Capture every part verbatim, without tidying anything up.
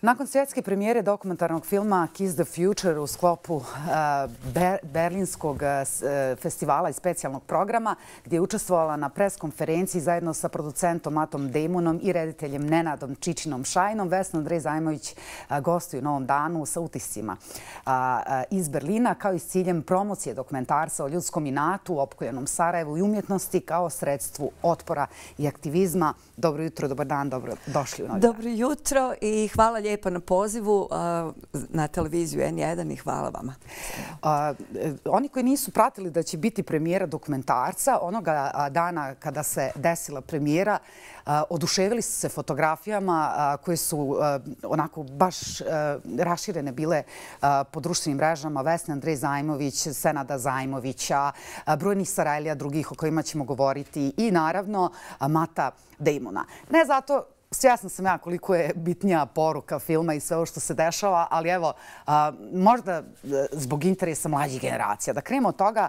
Nakon svjetske premijere dokumentarnog filma Kiss the Future u sklopu Berlinskog festivala i specijalnog programa, gdje je učestvovala na pres konferenciji zajedno sa producentom Mattom Damonom i rediteljem Nenadom Čičinom Šajnom, Vesna Andrej Zajmović gostuju u Novom danu sa utiscima iz Berlina, kao i s ciljem promocije dokumentarca o ljudskom inatu, opkoljenom Sarajevu i umjetnosti kao sredstvu otpora i aktivizma. Dobro jutro, dobar dan, dobro došli u Novi dan. Dobro jutro i hvala lijepo na pozivu na televiziju N jedan i hvala vama. Oni koji nisu pratili da će biti premijera dokumentarca, onoga dana kada se desila premijera, oduševili su se fotografijama koje su onako baš raširene bile po društvenim mrežama. Vesna Andrej Zajmović, Senada Zajmovića, brojnih Sarajlija drugih o kojima ćemo govoriti i naravno Matta Damona. Ne zato, svjesna sam ja koliko je bitnija poruka filma i sve ovo što se dešava, ali evo, možda zbog interesa mlađih generacija. Da krenemo od toga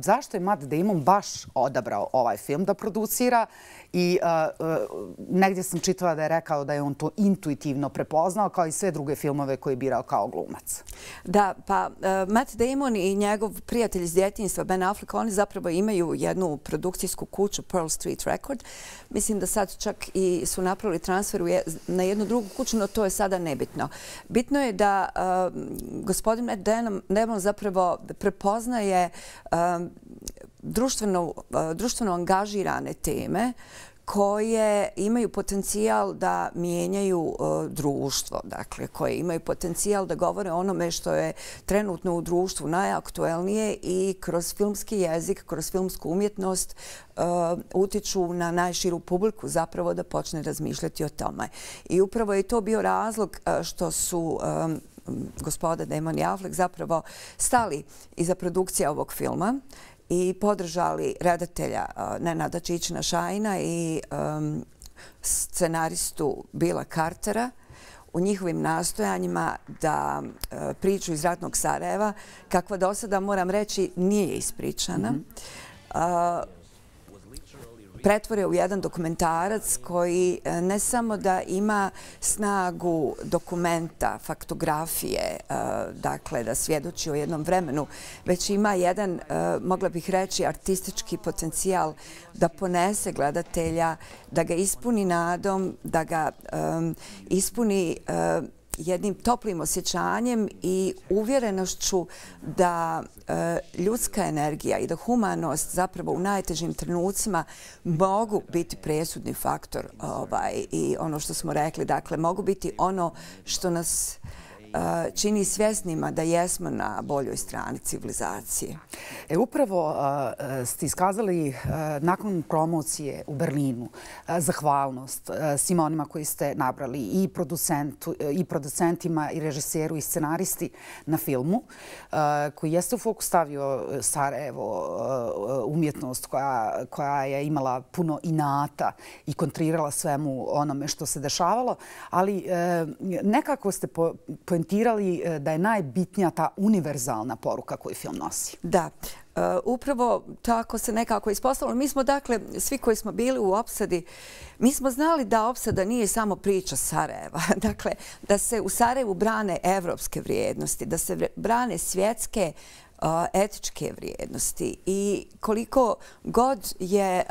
zašto je Matt Damon baš odabrao ovaj film da producira i negdje sam čitala da je rekao da je on to intuitivno prepoznao kao i sve druge filmove koje je birao kao glumac. Da, pa Matt Damon i njegov prijatelj iz djetinjstva Ben Affleck, oni zapravo imaju jednu produkcijsku kuću Pearl Street Record. Mislim da sad čak i su napravili transfer na jednu drugu kuću, no to je sada nebitno. Bitno je da gospodin Matt Damon zapravo prepoznaje društveno angažirane teme koje imaju potencijal da mijenjaju društvo, dakle, koje imaju potencijal da govore o onome što je trenutno u društvu najaktuelnije i kroz filmski jezik, kroz filmsku umjetnost utiču na najširu publiku zapravo da počne razmišljati o tome. I upravo je to bio razlog što su gospoda Damon i Affleck zapravo stali iza produkcije ovog filma i podržali redatelja Nenada Čičina Šajna i scenaristu Billa Cartera u njihovim nastojanjima da priču iz ratnog Sarajeva, kakva do sada, moram reći, nije ispričana, pretvore u jedan dokumentarac koji ne samo da ima snagu dokumenta, faktografije, dakle da svjedoči o jednom vremenu, već ima jedan, mogla bih reći, artistički potencijal da ponese gledatelja, da ga ispuni nadom, da ga ispuni jednim toplim osjećanjem i uvjerenošću da ljudska energija i da humanost zapravo u najtežim trenucima mogu biti presudni faktor i ono što smo rekli, dakle mogu biti ono što nas čini svjesnima da jesmo na boljoj strani civilizacije. E, upravo ste iskazali nakon promocije u Berlinu zahvalnost svima onima koji ste nabrali i, i producentima i režiseru i scenaristi na filmu koji jeste u fokus stavio Sarajevo, umjetnost koja, koja je imala puno inata i kontrirala svemu onome što se dešavalo, ali nekako ste po, po da je najbitnija ta univerzalna poruka koju film nosi. Da, upravo tako se nekako ispostavilo. Mi smo, dakle, svi koji smo bili u opsadi, mi smo znali da opsada nije samo priča Sarajeva. Dakle, da se u Sarajevu brane evropske vrijednosti, da se brane svjetske etičke vrijednosti i koliko god je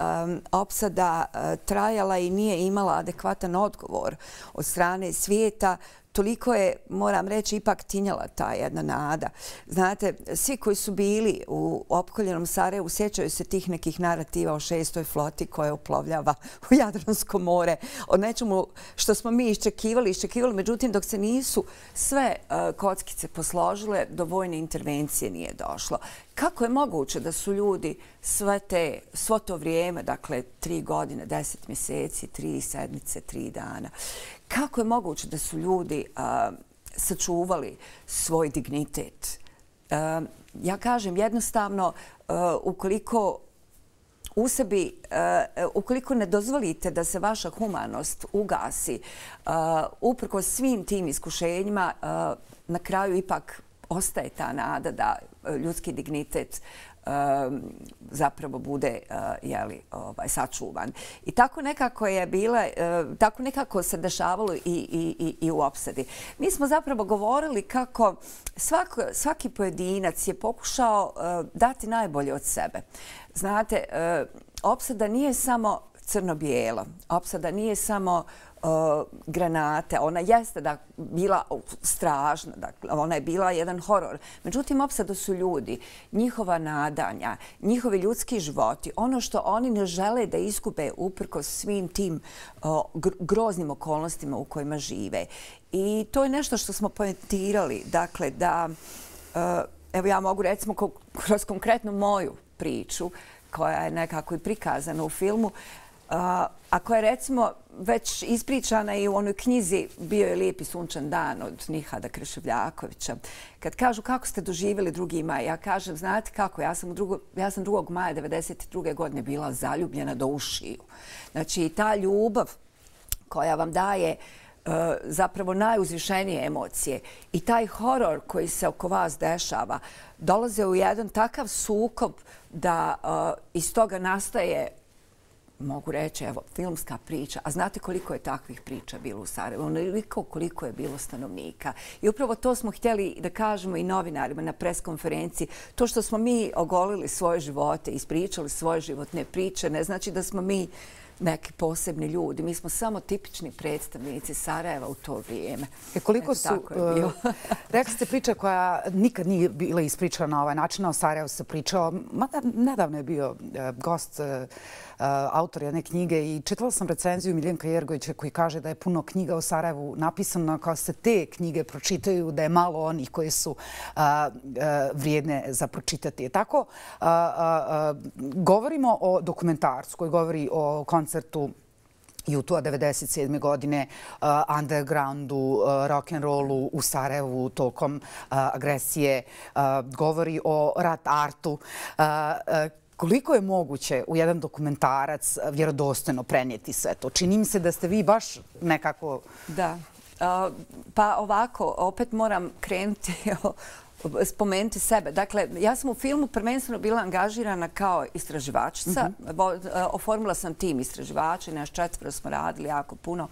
opsada trajala i nije imala adekvatan odgovor od strane svijeta, toliko je, moram reći, ipak tinjala ta jedna nada. Znate, svi koji su bili u opkoljenom Sarajevu sjećaju se tih nekih narativa o šestoj floti koja uplovljava u Jadransko more, o nečemu što smo mi iščekivali, iščekivali, međutim, dok se nisu sve kockice posložile, do vojne intervencije nije došlo. Kako je moguće da su ljudi sve te, svo to vrijeme, dakle, tri godine, deset mjeseci, tri sedmice, tri dana, kako je moguće da su ljudi uh, sačuvali svoj dignitet? Uh, ja kažem jednostavno, uh, ukoliko u sebi, uh, ukoliko ne dozvolite da se vaša humanost ugasi, uh, uprkos svim tim iskušenjima, uh, na kraju ipak ostaje ta nada da ljudski dignitet zapravo bude sačuvan. I tako nekako je bila, tako nekako se dešavalo i u opsadi. Mi smo zapravo govorili kako svaki pojedinac je pokušao dati najbolje od sebe. Znate, opsada nije samo crno-bijelo. Opsada nije samo granate. Ona jeste da bila strašna, ona je bila jedan horor. Međutim, opsada su ljudi, njihova nadanja, njihovi ljudski životi, ono što oni ne žele da iskube uprkos svim tim groznim okolnostima u kojima žive. I to je nešto što smo poentirali. Dakle, da, evo ja mogu recimo kroz konkretnu moju priču, koja je nekako i prikazana u filmu, a koja je recimo već ispričana i u onoj knjizi Bio je lijepi sunčan dan od Nihada Kreševljakovića. Kad kažu kako ste doživjeli drugi maj, ja kažem, znate kako, ja sam, drugo, ja sam drugog maja devedeset druge godine bila zaljubljena do ušiju. Znači, ta ljubav koja vam daje zapravo najuzvišenije emocije i taj horor koji se oko vas dešava dolaze u jedan takav sukob da iz toga nastaje, mogu reći, evo, filmska priča. A znate koliko je takvih priča bilo u Sarajevu? Onoliko koliko je bilo stanovnika. I upravo to smo htjeli da kažemo i novinarima na preskonferenciji. To što smo mi ogolili svoje živote, ispričali svoje životne priče, ne znači da smo mi neki posebni ljudi. Mi smo samo tipični predstavnici Sarajeva u to vrijeme. E koliko su... Rekli ste priča koja nikad nije bila ispričana na ovaj način. O Sarajevu se pričao. Mada nedavno je bio gost autor jedne knjige i čitala sam recenziju Miljenka Jergovića koji kaže da je puno knjiga o Sarajevu napisano kao se te knjige pročitaju, da je malo onih koje su vrijedne za pročitati. Tako, govorimo o dokumentarcu koji govori o koncertu U dva tisuće devedeset sedme. godine, undergroundu, rock'n'rollu u Sarajevu tokom agresije, govori o rat artu. Koliko je moguće u jedan dokumentarac vjerodostojno prenijeti sve to? Čini mi se da ste vi baš nekako... Da. Pa ovako, opet moram krenuti spomenuti sebe. Dakle, ja sam u filmu prvenstveno bila angažirana kao istraživačica. Oformila sam tim istraživača i naš četvero smo radili jako puno.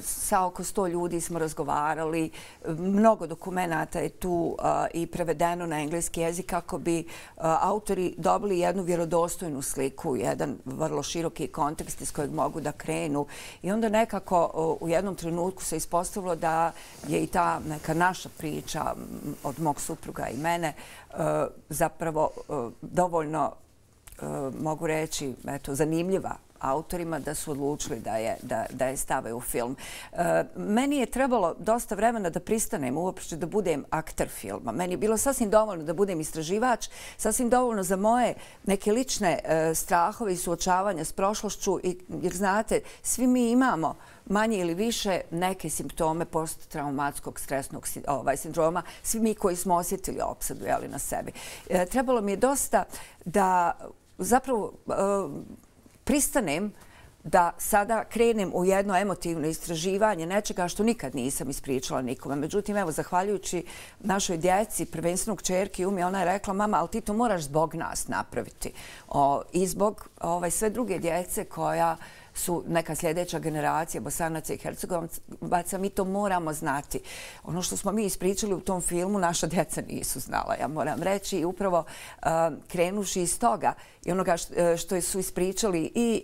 Sa oko sto ljudi smo razgovarali. Mnogo dokumenta je tu i prevedeno na engleski jezik kako bi autori dobili jednu vjerodostojnu sliku, jedan vrlo široki kontekst iz kojeg mogu da krenu. I onda nekako u jednom trenutku se ispostavilo da je i ta neka naša priča od mog supruga i mene zapravo dovoljno, mogu reći, zanimljiva autorima da su odlučili da je stave u film. Meni je trebalo dosta vremena da pristanem uopšte da budem akter filma. Meni je bilo sasvim dovoljno da budem istraživač, sasvim dovoljno za moje neke lične strahove i suočavanja s prošlošću, jer znate, svi mi imamo manje ili više neke simptome posttraumatskog stresnog sindroma, svi mi koji smo osjetili opsadu na sebi. Trebalo mi je dosta da zapravo pristanem da sada krenem u jedno emotivno istraživanje nečega što nikad nisam ispričala nikome. Međutim, evo, zahvaljujući našoj djeci, prvenstveno kćerki Umi, ona je rekla, mama, ali ti to moraš zbog nas napraviti. I zbog sve druge djece koja su neka sljedeća generacija Bosanaca i Hercegovaca, mi to moramo znati. Ono što smo mi ispričali u tom filmu, naša djeca nisu znala, ja moram reći. I upravo krenuši iz toga i onoga što su ispričali i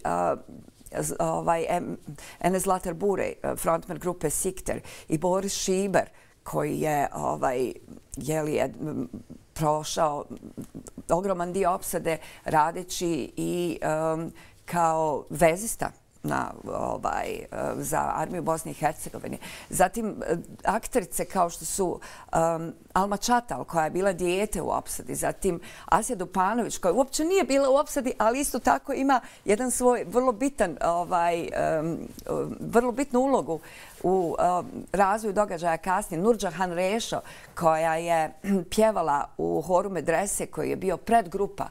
Enes Zlatar Burej, frontman grupe Sikter, i Boris Šiber, koji je prošao ogroman dio opsade radeći i kao vezista za armiju Bosne i Hercegovine. Zatim akterice kao što su Alma Čatal, koja je bila dijete u opsadi. Zatim Asja Dupanović, koja uopće nije bila u opsadi, ali isto tako ima jedan svoj vrlo bitan, vrlo bitnu ulogu u razvoju događaja kasnije. Nurđahan Rešo, koja je pjevala u horu Medrese, koji je bio predgrupa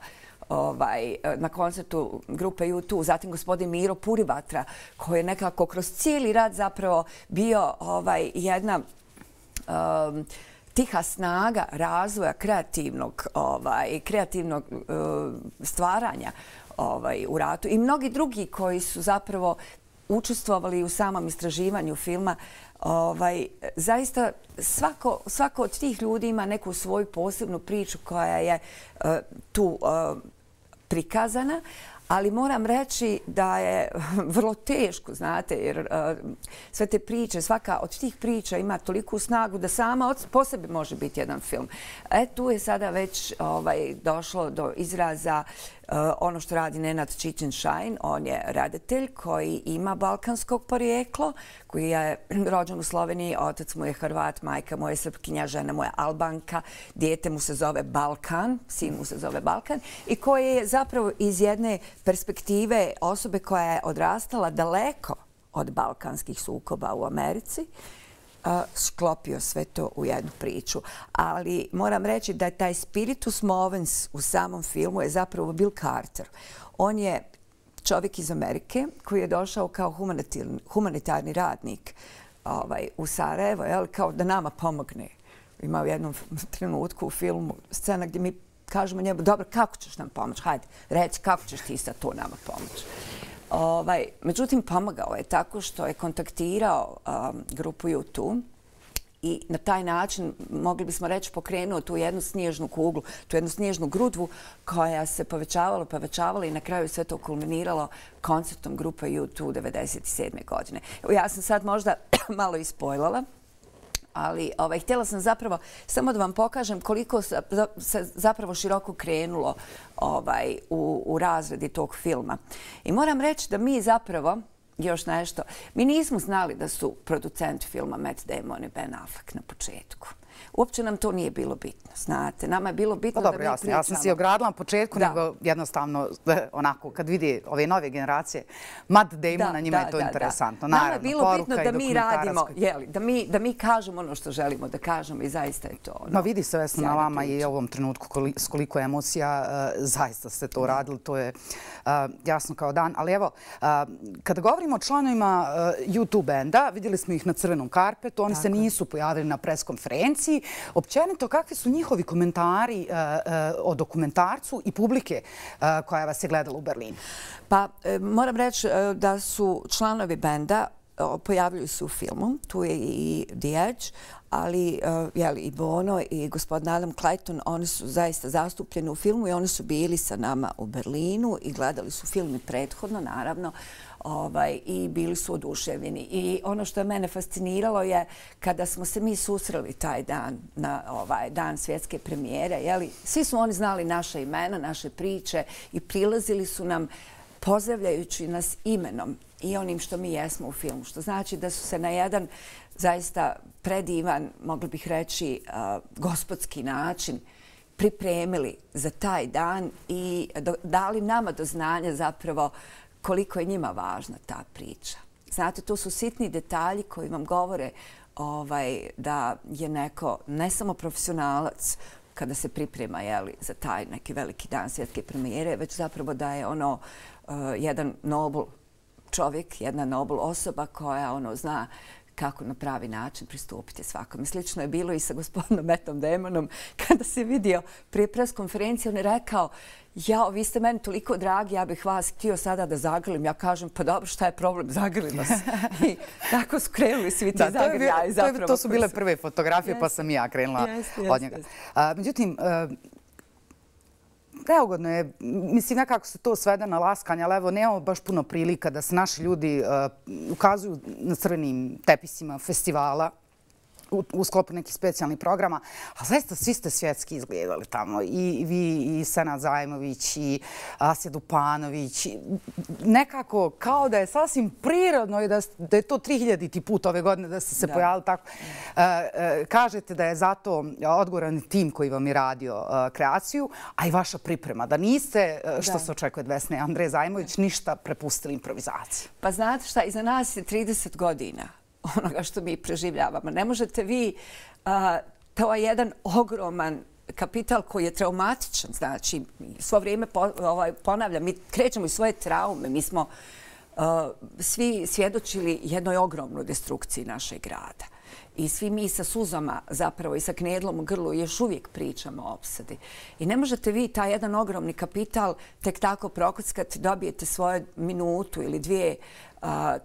na koncertu grupe U dva. Zatim gospodin Miro Purivatra, koji je nekako kroz cijeli rad zapravo bio jedna tiha snaga razvoja kreativnog, ovaj, kreativnog uh, stvaranja ovaj, u ratu i mnogi drugi koji su zapravo učestvovali u samom istraživanju filma. Ovaj, zaista svako, svako od tih ljudi ima neku svoju posebnu priču koja je uh, tu uh, prikazana, ali moram reći da je vrlo teško, znate, jer uh, sve te priče, svaka od tih priča ima toliku snagu da sama od, po sebi može biti jedan film. E, tu je sada već ovaj, došlo do izraza uh, ono što radi Nenad Čičin-Šajn. On je redatelj koji ima balkanskog porijeklo, koji je rođen u Sloveniji, otac mu je Hrvat, majka mu je Srpkinja, žena mu je Albanka, dijete mu se zove Balkan, sin mu se zove Balkan i koji je zapravo iz jedne perspektive osobe koja je odrastala daleko od balkanskih sukoba u Americi, sklopio sve to u jednu priču. Ali moram reći da je taj spiritus movens u samom filmu je zapravo Bill Carter. On je čovjek iz Amerike koji je došao kao humanitarni, humanitarni radnik ovaj, u Sarajevo, jel, kao da nama pomogne. Ima u jednom trenutku u filmu scena gdje mi kažemo njemu, dobro, kako ćeš nam pomoći? Hajde, reci kako ćeš ti sad to nama pomoći. Ovaj, međutim, pomagao je tako što je kontaktirao um, grupu U dva i na taj način, mogli bismo reći, pokrenuo tu jednu snježnu kuglu, tu jednu snježnu grudvu koja se povećavala, povećavala i na kraju sve to kulminiralo koncertom grupa U dva devedeset sedme godine. Ja sam sad možda malo ispojlala, ali ovaj, htjela sam zapravo samo da vam pokažem koliko se zapravo široko krenulo ovaj, u, u razredi tog filma. I moram reći da mi zapravo, još nešto, mi nismo znali da su producenti filma Matt Damon i Ben Affleck na početku. Uopće nam to nije bilo bitno, znate. Nama je bilo bitno pa dobro, da mi jasno, pričamo. Ja sam si ogradila na početku, da. nego jednostavno, onako, kad vidi ove nove generacije, Matt Damon, na njima da, je to da, interesantno. Da. Nama Naravno, je bilo bitno da mi radimo, koji... jeli, da, mi, da mi kažemo ono što želimo da kažemo i zaista je to. Ono, no vidi se Vesna na vama priča. i u ovom trenutku koli, s koliko emocija uh, zaista ste to radili, to je uh, jasno kao dan. Ali evo, uh, kada govorimo o članovima uh, U dva benda, vidjeli smo ih na crvenom karpetu, oni Tako. se nisu pojavili na preskonferenciji. Općenito, kakvi su njihovi komentari uh, uh, o dokumentarcu i publike uh, koja vas je gledala u Berlinu? Pa, e, moram reći e, da su članovi benda pojavljuju se u filmu. Tu je i The Edge, ali uh, jeli, i Bono i gospodin Adam Clayton, oni su zaista zastupljeni u filmu i oni su bili sa nama u Berlinu i gledali su film i prethodno, naravno, ovaj, i bili su oduševljeni. I ono što je mene fasciniralo je kada smo se mi susreli taj dan, na ovaj dan svjetske premijere, jeli, svi su oni znali naše imena, naše priče i prilazili su nam pozdravljajući nas imenom i onim što mi jesmo u filmu. Što znači da su se na jedan zaista predivan, mogli bih reći, uh, gospodski način pripremili za taj dan i do, dali nama do znanja zapravo koliko je njima važna ta priča. Znate, to su sitni detalji koji vam govore ovaj, da je neko ne samo profesionalac kada se priprema jeli, za taj neki veliki dan svjetske premijere, već zapravo da je ono uh, jedan nobel čovjek, jedna nobel osoba koja ono zna kako na pravi način pristupiti svakome. Slično je bilo i sa gospodinom Mattom Damonom. Kada se vidio prije pres konferencije, on je rekao, jao, vi ste meni toliko dragi, ja bih vas htio sada da zagrlim. Ja kažem, pa dobro, šta je problem, zagrlimo se. I tako su krenuli svi ti da, zagrljaji. To, to, to su bile prve fotografije, yes. pa sam i ja krenula yes, yes, od njega. Yes. A, međutim, uh, neugodno je, mislim, nekako se to svede na laskanje, ali evo, nemamo baš puno prilika da se naši ljudi uh, ukazuju na crvenim tepisima festivala u, u sklopu nekih specijalnih programa, a zaista svi ste svjetski izgledali tamo. I vi, i Senad Zajmović, i Asja Dupanović. Nekako kao da je sasvim prirodno i da, da je to tri hiljaditi put ove godine da ste se da. pojavili tako. Uh, uh, kažete da je zato odgovoran tim koji vam je radio uh, kreaciju, a i vaša priprema. Da niste, uh, što da. se očekuje od Vesne Andreje Zajmović, ništa prepustili improvizaciji. Pa znate šta, iza nas je trideset godina onoga što mi preživljavamo. Ne možete vi, uh, to je jedan ogroman kapital koji je traumatičan. Znači, svo vrijeme po, ovaj, ponavljam, mi krećemo iz svoje traume. Mi smo uh, svi svjedočili jednoj ogromnoj destrukciji našeg grada. I svi mi sa suzama zapravo i sa knedlom u grlu još uvijek pričamo o opsadi. I ne možete vi taj jedan ogromni kapital tek tako prokockati, dobijete svoju minutu ili dvije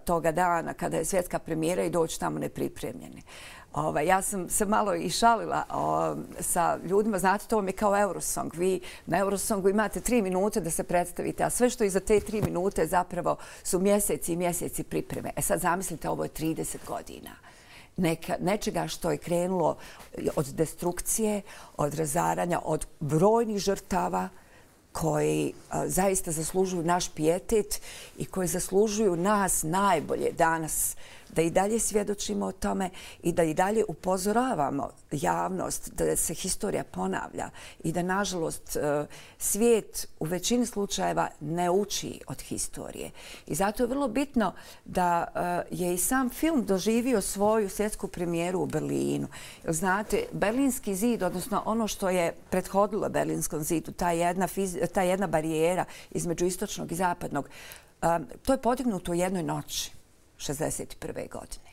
toga dana kada je svjetska premijera i doći tamo nepripremljeni. Ja sam se malo i šalila sa ljudima. Znate, to vam je kao Eurosong. Vi na Eurosongu imate tri minute da se predstavite, a sve što iza te tri minute zapravo su mjeseci i mjeseci pripreme. E sad zamislite, ovo je trideset godina. Nečega što je krenulo od destrukcije, od razaranja, od brojnih žrtava koji zaista zaslužuju naš pijetet i koji zaslužuju nas najbolje danas da i dalje svjedočimo o tome i da i dalje upozoravamo javnost da se historija ponavlja i da, nažalost, svijet u većini slučajeva ne uči od historije. I zato je vrlo bitno da je i sam film doživio svoju svjetsku premijeru u Berlinu. Znate, Berlinski zid, odnosno ono što je prethodilo Berlinskom zidu, ta jedna, ta jedna barijera između istočnog i zapadnog, to je podignuto u jednoj noći. šezdeset prve godine.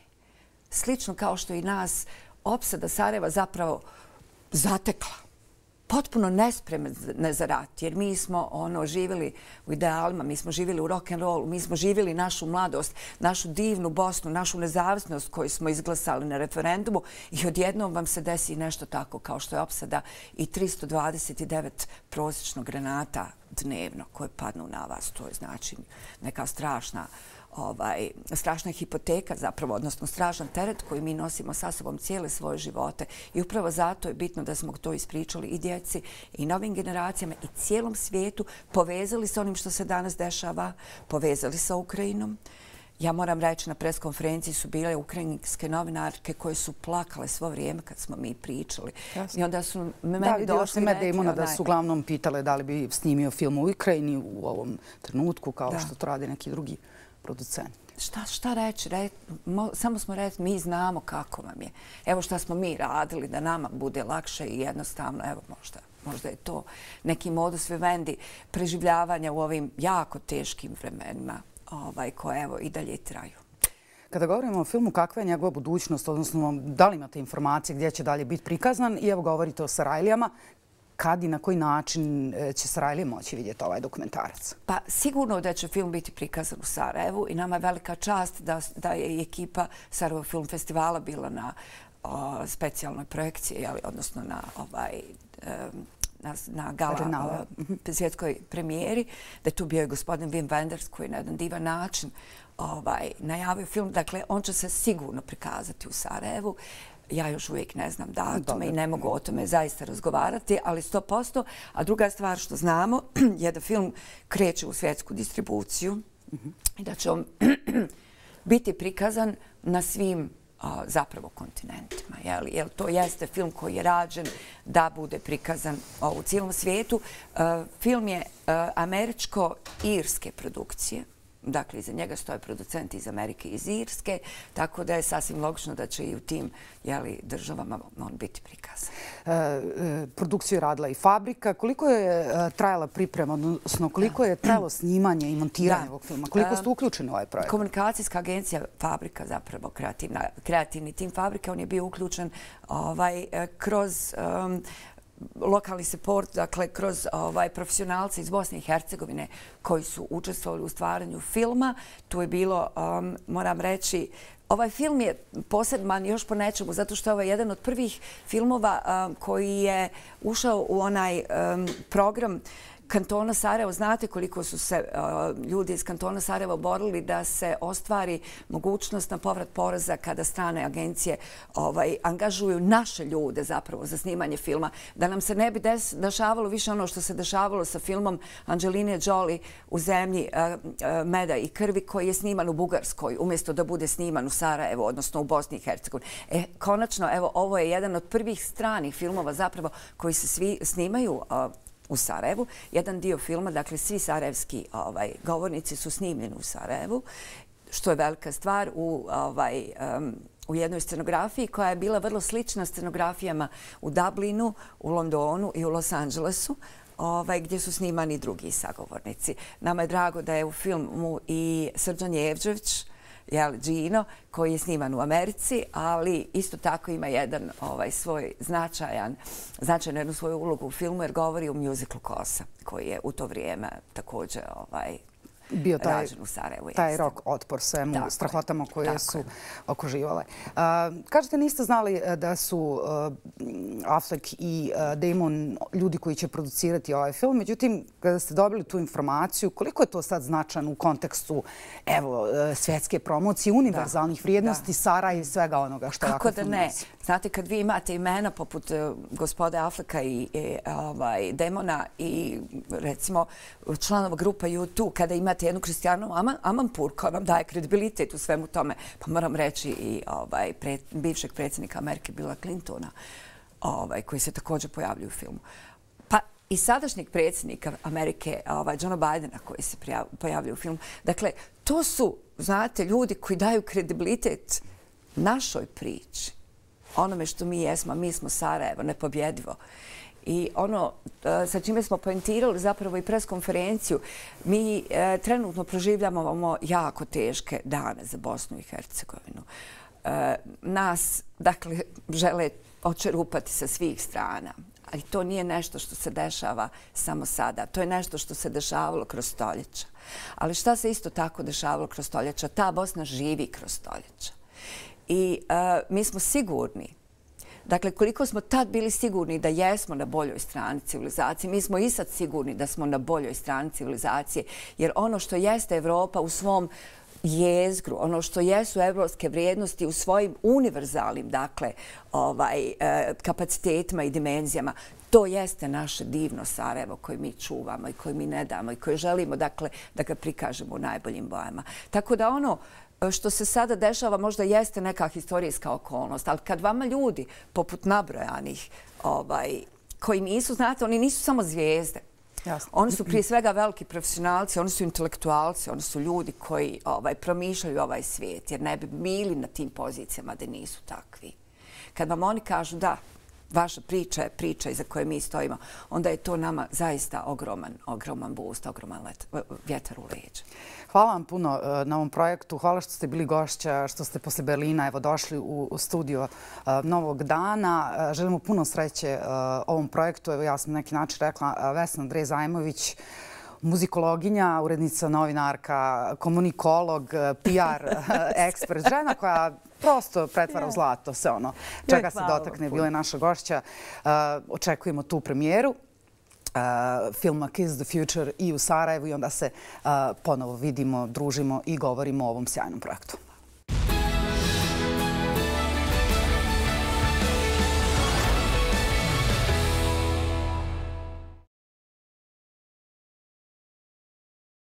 Slično kao što i nas opsada Sarajeva zapravo zatekla. Potpuno nespremne za rat, jer mi smo ono živjeli u idealima, mi smo živjeli u rock'n'rollu, mi smo živjeli našu mladost, našu divnu Bosnu, našu nezavisnost koju smo izglasali na referendumu i odjednom vam se desi nešto tako kao što je opsada i tristo dvadeset devet prosječnog granata dnevno koje padnu na vas. To je znači neka strašna Ovaj, strašna hipoteka zapravo, odnosno strašan teret koji mi nosimo sa sobom cijele svoje živote. I upravo zato je bitno da smo to ispričali i djeci i novim generacijama i cijelom svijetu, povezali sa onim što se danas dešava, povezali sa Ukrajinom. Ja moram reći, na preskonferenciji su bile ukrajinske novinarke koje su plakale svo vrijeme kad smo mi pričali. Jasne. I onda su me da, meni došli i rekli... Da, Damona da su uglavnom pitale da li bi snimio film u Ukrajini u ovom trenutku, kao da. Što to rade neki drugi producenti. Šta, šta reći? Re, mo, samo smo rekli, mi znamo kako vam je. Evo šta smo mi radili da nama bude lakše i jednostavno, evo možda, možda je to neki modus vivendi preživljavanja u ovim jako teškim vremenima ovaj, koje evo i dalje traju. Kada govorimo o filmu, kakva je njegova budućnost, odnosno da li imate informacije gdje će dalje biti prikazan i evo govorite o Sarajlijama, kad i na koji način će Sarajlije moći vidjeti ovaj dokumentarac? Pa sigurno da će film biti prikazan u Sarajevu i nama je velika čast da, da je i ekipa Sarajevo Film Festivala bila na o, specijalnoj projekciji, jeli, odnosno na ovaj... Um, na, na gala o, svjetskoj premijeri, da je tu bio i gospodin Wim Wenders koji na jedan divan način ovaj, najavio film. Dakle, on će se sigurno prikazati u Sarajevu. Ja još uvijek ne znam datume i ne mogu o tome zaista razgovarati, ali sto posto. A druga stvar što znamo je da film kreće u svjetsku distribuciju i da će on biti prikazan na svim zapravo kontinentima. Jer to jeste film koji je rađen da bude prikazan u cijelom svijetu. Film je američko-irske produkcije. Dakle, iza njega stoje producenti iz Amerike i iz Irske, tako da je sasvim logično da će i u tim jeli, državama on biti prikazan. E, e, produkciju je radila i Fabrika. Koliko je e, trajala priprema, odnosno koliko je trajalo snimanje i montiranje da. ovog filma? Koliko ste uključeni u ovaj projekt? Komunikacijska agencija Fabrika, zapravo kreativna, kreativni tim Fabrike, on je bio uključen ovaj, kroz... Um, lokalni support, dakle, kroz ovaj, profesionalce iz Bosne i Hercegovine koji su učestvovali u stvaranju filma. Tu je bilo, um, moram reći, ovaj film je poseban još po nečemu, zato što je ovo jedan od prvih filmova um, koji je ušao u onaj um, program Kantona Sarajevo. Znate koliko su se uh, ljudi iz Kantona Sarajevo borili da se ostvari mogućnost na povrat poreza kada strane agencije ovaj, angažuju naše ljude zapravo za snimanje filma. Da nam se ne bi des, dešavalo više ono što se dešavalo sa filmom Angeline Jolie U zemlji uh, uh, meda i krvi koji je sniman u Bugarskoj umjesto da bude sniman u Sarajevu, odnosno u Bosni i Hercegovini. E, konačno, evo, ovo je jedan od prvih stranih filmova zapravo koji se svi snimaju uh, u Sarajevu. Jedan dio filma, dakle svi sarajevski ovaj, govornici su snimljeni u Sarajevu, što je velika stvar u, ovaj, um, u jednoj scenografiji koja je bila vrlo slična scenografijama u Dublinu, u Londonu i u Los Angelesu, ovaj, gdje su snimani drugi sagovornici. Nama je drago da je u filmu i Srđan Jevđević, jel, Gino, koji je sniman u Americi, ali isto tako ima jedan ovaj, svoj značajan, značajnu jednu svoju ulogu u filmu jer govori o muziklu Kosa, koji je u to vrijeme također ovaj, bio taj, rađen u Sarajevu. taj rok otpor svemu tako strahotama koje tako su je. okruživale. Uh, kažete, niste znali da su uh, Affleck i uh, Damon ljudi koji će producirati ovaj film, međutim, kada ste dobili tu informaciju, koliko je to sad značajno u kontekstu evo, uh, svjetske promocije, univerzalnih vrijednosti, Sara i svega onoga što Kako ovakav da film ne? nosi? Znate, kad vi imate imena poput uh, gospode Afflecka i, i ovaj, Damona i recimo članova grupa U dva, kada imate jednu Kristijanu Amanpour koja vam daje kredibilitet u svemu tome, pa moram reći i ovaj, pre, bivšeg predsjednika Amerike Billa Clintona, ovaj, koji se također pojavljuju u filmu. Pa i sadašnjeg predsjednika Amerike, ovaj, Johna Bidena, koji se pojavljuju u filmu. Dakle, to su, znate, ljudi koji daju kredibilitet našoj priči, onome što mi jesmo, mi smo Sarajevo, nepobjedivo. I ono sa čime smo poentirali zapravo i preskonferenciju, mi e, trenutno proživljavamo jako teške dane za Bosnu i Hercegovinu. E, nas, dakle, žele očerupati sa svih strana. Ali to nije nešto što se dešava samo sada. To je nešto što se dešavalo kroz stoljeća. Ali šta se isto tako dešavalo kroz stoljeća? Ta Bosna živi kroz stoljeća. I e, mi smo sigurni, dakle, koliko smo tad bili sigurni da jesmo na boljoj strani civilizacije, mi smo i sad sigurni da smo na boljoj strani civilizacije, jer ono što jeste Evropa u svom jezgru, ono što jesu evropske vrijednosti u svojim univerzalnim, dakle, ovaj, kapacitetima i dimenzijama, to jeste naše divno Sarajevo koje mi čuvamo i koje mi ne damo i koje želimo, dakle, da ga prikažemo u najboljim bojama. Tako da ono što se sada dešava možda jeste neka historijska okolnost, ali kad vama ljudi, poput nabrojanih, ovaj, koji nisu, znate, oni nisu samo zvijezde. Jasno. Oni su prije svega veliki profesionalci, oni su intelektualci, oni su ljudi koji ovaj, promišljaju ovaj svijet, jer ne bi bili na tim pozicijama da nisu takvi. Kad vam oni kažu da, vaša priča je priča iza koje mi stojimo, onda je to nama zaista ogroman, ogroman boost, ogroman let, vjetar u leđa. Hvala vam puno na ovom projektu. Hvala što ste bili gošća, što ste posle Berlina evo, došli u, u studio Novog dana. Želimo puno sreće ovom projektu. Evo, ja sam na neki način rekla Vesna Andrej Zajmović, muzikologinja, urednica, novinarka, komunikolog, P R ekspert, žena koja prosto pretvara u zlato sve ono čega se dotakne. Bila je naša gošća. Očekujemo tu premijeru filma Kiss the Future i u Sarajevu i onda se ponovo vidimo, družimo i govorimo o ovom sjajnom projektu.